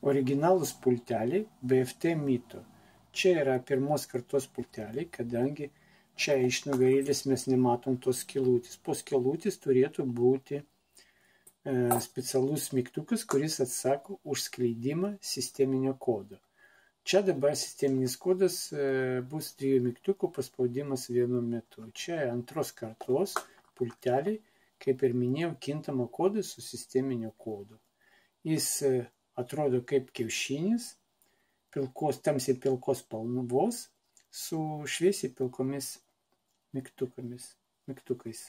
Originalūs pulteliai BFT Mito. Čia yra pirmos kartos pulteliai, kadangi čia iš nugarėlės mes nematom tos skylutės. Po skylutės turėtų būti specialus mygtukas, kuris atsako už skleidimą sisteminio kodo. Čia dabar sisteminis kodas bus 2 mygtukų paspaudimas vienu metu. Čia antros kartos pulteliai, kaip ir minėjau, kintamo kodo su sisteminio kodu. Jis atrodo kaip kiaušinis, tamsiai pilkos spalvos su šviesiai pilkomis mygtukais.